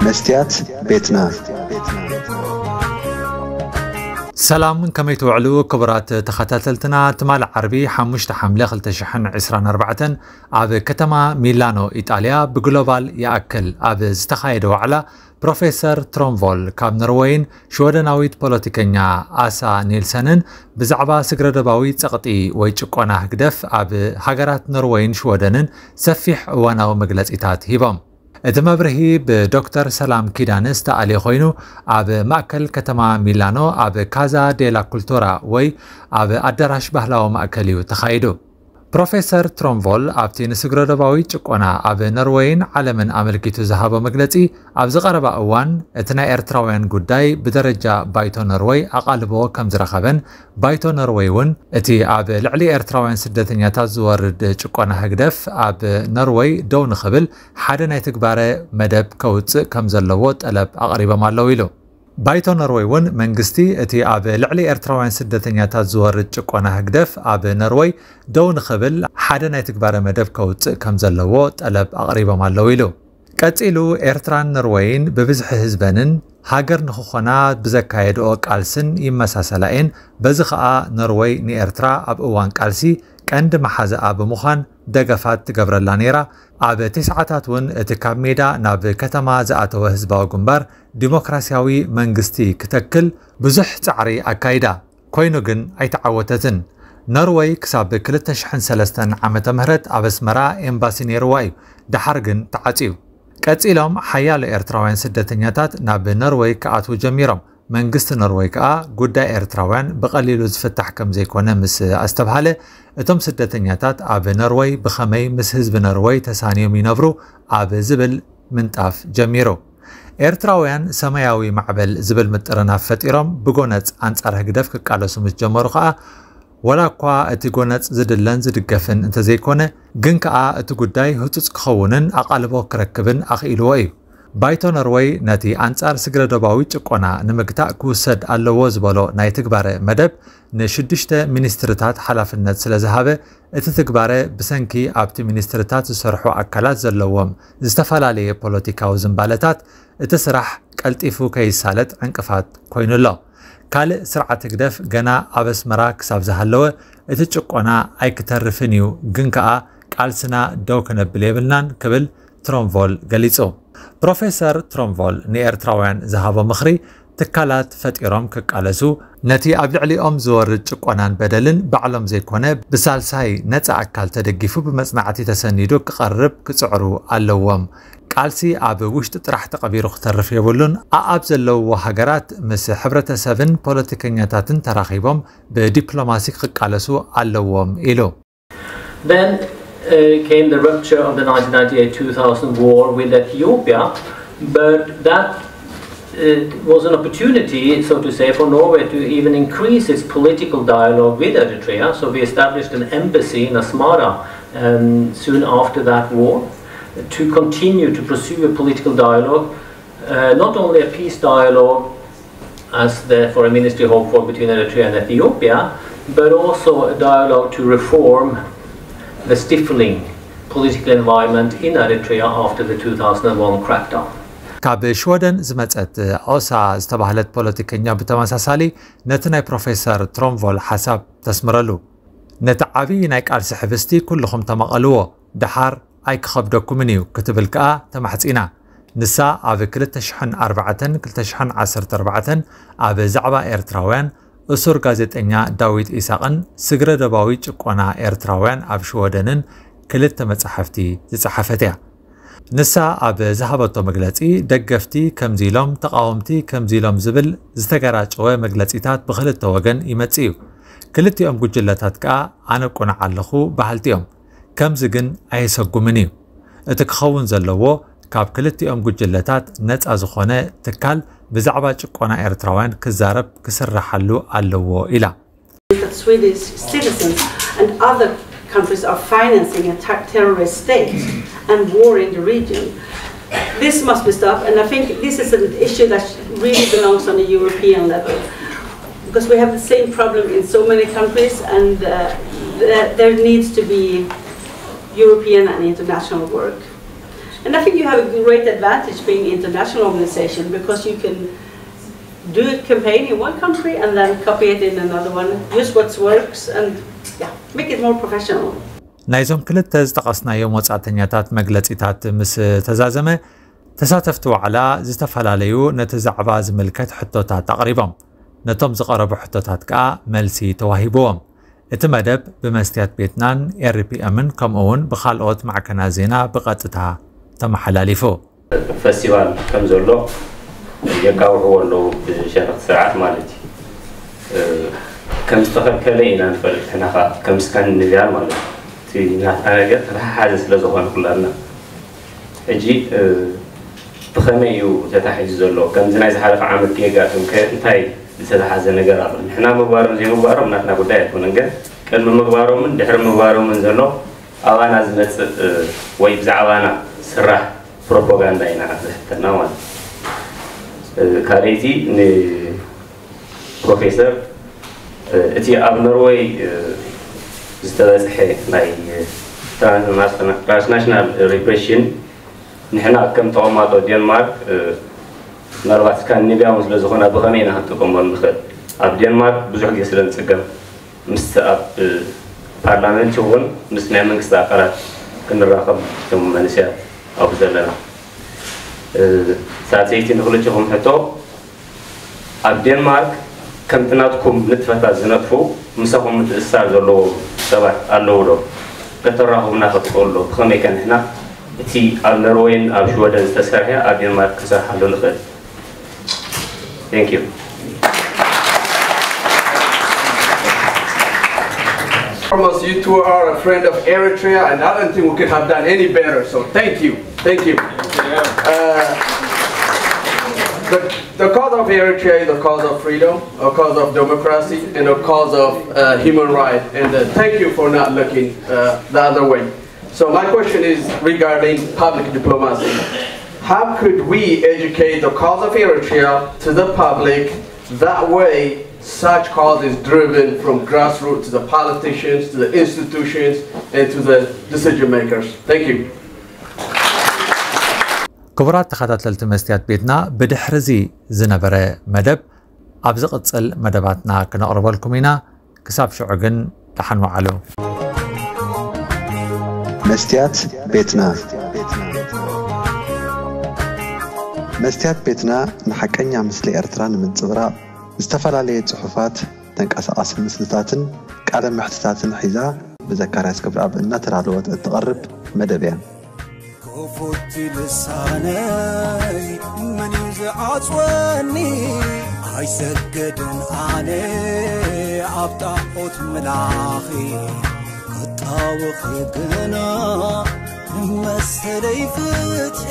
መስትያት ቤትና። ሰላም፣ ከመይ ትውዕሉ ክቡራት ተኸታተልትና? ትማሊ ዓርቢ ሓሙሽተ ሓምለ ክልተ ሽሕን ዕስራን ኣርባዕተን ኣብ ከተማ ሚላኖ ኢጣልያ ብግሎባል ይኣክል ኣብ ዝተኻየደ ዋዕላ ፕሮፌሰር ትሮምቮል ካብ ኖርወይን ሽወደናዊት ፖለቲከኛ ኣሳ ኒልሰንን ብዛዕባ ስግረደባዊ ጸቕጢ ወይ ጭቆና ህግደፍ ኣብ ሃገራት ኖርወይን ሽወደንን ሰፊሕ እዋናዊ መግለጺታት ሂቦም። እቲ መብርሂ ብዶክተር ሰላም ኪዳነ ዝተኣልየ ኮይኑ ኣብ ማእከል ከተማ ሚላኖ ኣብ ካዛ ዴላ ኩልቶራ ወይ ኣብ ኣዳራሽ ባህላዊ ማእከል እዩ ተኻይዱ። ፕሮፌሰር ትሮምቮል ኣብቲ ንስግረደባዊ ጭቆና ኣብ ኖርወይን ዓለምን ኣመልኪቱ ዝሃቦ መግለጺ ኣብዚ ቀረባ እዋን እቲ ናይ ኤርትራውያን ጉዳይ ብደረጃ ባይቶ ኖርወይ ኣቓልቦ ከም ዝረኸበን ባይቶ ኖርወይ እውን እቲ ኣብ ልዕሊ ኤርትራውያን ስደተኛታት ዝወርድ ጭቆና ህግደፍ ኣብ ኖርወይ ደው ንኽብል ሓደ ናይ ትግባረ መደብ ከውፅእ ከም ዘለዎ ጠለብ ኣቕሪቦም ኣለዉ ኢሉ። ባይቶ ኖርወይ እውን መንግስቲ እቲ ኣብ ልዕሊ ኤርትራውያን ስደተኛታት ዝወርድ ጭቆና ህግደፍ ኣብ ኖርወይ ደው ንኽብል ሓደ ናይ ትግባረ መደብ ከውፅእ ከም ዘለዎ ጠለብ ኣቕሪቦም ኣለዉ ኢሉ። ቀጺሉ ኤርትራን ኖርወይን ብብዝሒ ህዝበንን ሃገር ንኽኾና ብዘካየድኦ ቃልስን ይመሳሰላ እየን። በዚ ኸኣ ኖርወይ ንኤርትራ ኣብ እዋን ቃልሲ ቀንዲ መሓዛኣ ብምዃን ደገፋት ትገብረላ ነይራ። ኣብ ተስዓታት እውን እቲ ካብ ሜዳ ናብ ከተማ ዝኣተወ ህዝባዊ ግንባር ዲሞክራሲያዊ መንግስቲ ክተክል ብዙሕ ጻዕሪ ኣካይዳ። ኮይኑ ግን ኣይተዓወተትን። ኖርወይ ክሳብ ክልተ ሽሕን ሰለስተን ዓመተ ምህረት ኣብ ኣስመራ ኤምባሲ ነይርዋ እዩ። ደሓር ግን ተዓጽዩ። ቀጺሎም ሓያሎ ኤርትራውያን ስደተኛታት ናብ ኖርወይ ክኣትዉ ጀሚሮም። መንግስቲ ኖርወይ ከኣ ጉዳይ ኤርትራውያን ብቐሊሉ ዝፍታሕ ከም ዘይኮነ ምስ ኣስተብሃለ፣ እቶም ስደተኛታት ኣብ ኖርወይ ብኸመይ ምስ ህዝቢ ኖርወይ ተሳንዮም ይነብሩ ኣብ ዝብል ምንጣፍ ጀሚሩ። ኤርትራውያን ሰማያዊ ማዕበል ዝብል ምጥርናፍ ፈጢሮም ብጎነጽ ኣንጻር ህግደፍ ክቃለሱ ምስ ጀመሩ ከኣ፣ ወላ እኳ እቲ ጎነጽ ዝድለን ዝድገፍን እንተዘይኮነ፣ ግን ከኣ እቲ ጉዳይ ህጹጽ ክኸውንን ኣቓልቦ ክረክብን ኣኽኢልዎ እዩ። ባይቶ ኖርወይ ነቲ ኣንጻር ስግረደባዊ ጭቆና ንምግታእ ክውሰድ ኣለዎ ዝበሎ ናይ ትግባረ መደብ ንሽዱሽተ ሚኒስትርታት ሓላፍነት ስለ ዝሃበ፣ እቲ ትግባረ ብሰንኪ ኣብቲ ሚኒስትርታት ዝሰርሑ ኣካላት ዘለዎም ዝተፈላለየ ፖለቲካዊ ዝንባለታት እቲ ስራሕ ቀልጢፉ ከይሳለጥ ዕንቅፋት ኮይኑ ኣሎ። ካልእ ስርዓት ህግደፍ ገና ኣብ ኣስመራ ክሳብ ዝሃለወ እቲ ጭቆና ኣይክተርፍን እዩ፣ ግን ከኣ ቃልስና ደው ክነብል የብልናን ክብል ትሮምቮል ገሊጹ። ፕሮፌሰር ትሮምቮል ንኤርትራውያን ዝሃቦ ምኽሪ ትካላት ፈጢሮም ክቃለሱ፣ ነቲ ኣብ ልዕሊኦም ዝወርድ ጭቆናን በደልን ባዕሎም ዘይኮነ ብሳልሳይ ነጻ ኣካል ተደጊፉ ብመጽናዕቲ ተሰኒዱ ክቐርብ ክጽዕሩ ኣለዎም። ቃልሲ ኣብ ውሽጢ ጥራሕ ተቐቢሩ ክተርፍ የብሉን። ኣኣብ ዘለውዎ ሃገራት ምስ ሕብረተሰብን ፖለቲከኛታትን ተራኺቦም ብዲፕሎማሲ ክቃለሱ ኣለዎም ኢሉ። Then uh, came the rupture of the nineteen ninety-eight two thousand war with Ethiopia, but that uh, was an opportunity, so to say, for Norway to even increase its political dialogue with Eritrea. So we established an embassy in Asmara um, soon after that war to continue to pursue a political dialogue, uh, not only a peace dialogue, as the foreign ministry hoped for, between Eritrea and Ethiopia, but also a dialogue to reform the stifling political environment in Eritrea after the two thousand one crackdown. ካብ ሽወደን ዝመጸት ኦሳ ዝተባህለት ፖለቲከኛ ብተመሳሳሊ ነቲ ናይ ፕሮፌሰር ትሮምቮል ሓሳብ ተስምረሉ። ነቲ ዓብዪ ናይ ቃልሲ ሕብስቲ ኩልኹም ተማቐልዎ፣ ደሓር ኣይክኸብደኩምን እዩ ክትብል ከኣ ተማሕጺና። ንሳ ኣብ ክልተ ሽሕን ኣርባዕተን ክልተ ሽሕን ዓሰርተ ኣርባዕተን ኣብ ዛዕባ ኤርትራውያን እሱር ጋዜጠኛ ዳዊት ኢሳቕን ስግረ ደባዊ ጭቆና ኤርትራውያን ኣብ ሽወደንን ክልተ መጻሕፍቲ ዝጸሓፈት እያ። ንሳ ኣብ ዝሃበቶ መግለጺ፣ ደገፍቲ ከምዚ ኢሎም፣ ተቓወምቲ ከምዚ ኢሎም ዝብል ዝተገራጨወ መግለጺታት ብኽልተ ወገን ይመጽእ እዩ። ክልቲኦም ጉጅለታት ከኣ ኣነ ቁኑዕ ኣለኹ በሃልቲ እዮም። ከምዚ ግን ኣየሰጉምን እዩ። እቲ ክኸውን ዘለዎ፣ ካብ ክልቲኦም ጉጅለታት ነጻ ዝኾነ ትካል ብዛዕባ ጭቆና ኤርትራውያን ክዛረብ ክስርሓሉ ኣለዎ ኢላ። That Swedish citizens and other countries are financing a ter- terrorist state and war in the region. This must be stopped, and I think this is an issue that really belongs on a European level. Because we have the same problem in so many countries, and uh, there, there needs to be European and international work. And I think you have a great advantage being international organization because you can do a campaign in one country and then copy it in another one, use what works and, yeah, make it more professional. ናይዞም ክልተ ዝጠቐስናዮም ወጻእተኛታት መግለጺታት ምስ ተዛዘመ፣ ተሳተፍቲ ዋዕላ ዝተፈላለዩ ነቲ ዛዕባ ዝምልከት ሕቶታት ኣቕሪቦም። ነቶም ዝቐረቡ ሕቶታት ከኣ መልሲ ተዋሂብዎም። እቲ መደብ ብመስትያት ቤትናን ኤርፒኤምን ከምኡ እውን ብኻልኦት ማዕከናት ዜና ብቐጥታ ተመሓላሊፉ። ፈስቲቫል ከም ዘሎ የጋውሕዎ ኣለዉ፣ ብሸነኽቲ ስርዓት ማለት እዩ። ከም ዝተኸልከለ ኢና ንፈልጥ። ንሕና ኸዓ ከም ስካንዲኔቭያን ማለት እዩ፣ እቲ ናትና ነገር ተተሓሓዘ ስለ ዝኾነ ኩላትና። ሕጂ ብኸመይ እዩ ተታሒዙ ዘሎ? ከምዚ ናይ ዝሓለፈ ዓመት ከየጋጥም ከ እንታይ ዝተተሓዘ ነገር ኣሎ? ንሕና ምግባሮም ዘይምግባሮም ናትና ጉዳይ ኣይኮነን፣ ግን ቅድሚ ምግባሮምን ድሕሪ ምግባሮምን ዘሎ ኣባና ዝመፅእ ወይ ብዛዕባና ዝስራሕ ፕሮፓጋንዳ ኢና ዝሕተና ማለት እዩ። ካልኣይቲ ንፕሮፌሰር፣ እቲ ኣብ ኖርወይ ዝተበፅሐ ናይ ትራንስናሽናል ሪፕሬሽን ንሕና ከም ተቐማጦ ዴንማርክ፣ ምናልባት ስካንዲኔቭያ እውን ስለ ዝኾና ብኸመይ ኢና ክንጥቀመሉ ንኽእል? ኣብ ዴንማርክ ብዙሕ ግዜ ስለ ንፅገም ምስ ኣብ ፓርላመንት ይኹን ምስ ናይ መንግስቲ ኣካላት ክንራኸብ እቶም መንእሰያት ኣብኡ ዘለና። ሳልሰይቲ ንኽልቲኹም ሕቶ፣ ኣብ ዴንማርክ ከምቲ ናትኩም ንጥፈታት ዝነጥፉ ምሳኹም ምትእስሳር ዘለዎም ሰባት ኣለዉ ዶ? ከተራኽቡና ክትኽእሉ ዶ? ብኸመይ ከ ንሕና እቲ ኣብ ኖርወይን ኣብ ሽወደን ዝተሰርሐ ኣብ ዴንማርክ ክንሰርሓሉ ንኽእል? Thank you. Foremost, you two are a friend of Eritrea, and I don't think we could have done any better. So thank you, thank you. Uh, the, the cause of Eritrea is the cause of freedom, a cause of democracy, and a cause of uh, human rights. And uh, thank you for not looking uh, the other way. So my question is regarding public diplomacy. How could we educate the cause of Eritrea to the public? That way, such cause is driven from grassroots to the politicians, to the institutions, and to the decision makers. Thank you. ክቡራት ተኸታተልቲ መስትያት ቤትና፣ ብድሕርዚ ዝነበረ መደብ ኣብ ዝቕጽል መደባትና ክነቕርበልኩም ኢና። ክሳብ ሽዑ ግን ደሓን ወዓሉ። መስትያት ቤትና። መስትያት ቤትና ንሓቀኛ ምስሊ ኤርትራ ንምንጽብራቕ ዝተፈላለየ ጽሑፋት፣ ተንቀሳቓሲ ምስልታትን ቃለ መሕትታትን ሒዛ ብዘካርያስ ገብረኣብ እናተዳለወት እትቐርብ መደብ እያ። ክፉት ልሳነይ መን እዩ ዝዓጽወኒ? ኣይሰግድን ኣነ ኣብ ጣዖት ምላኺ፣ ክጣወኺ ግና መሰለይ ፍትሒ።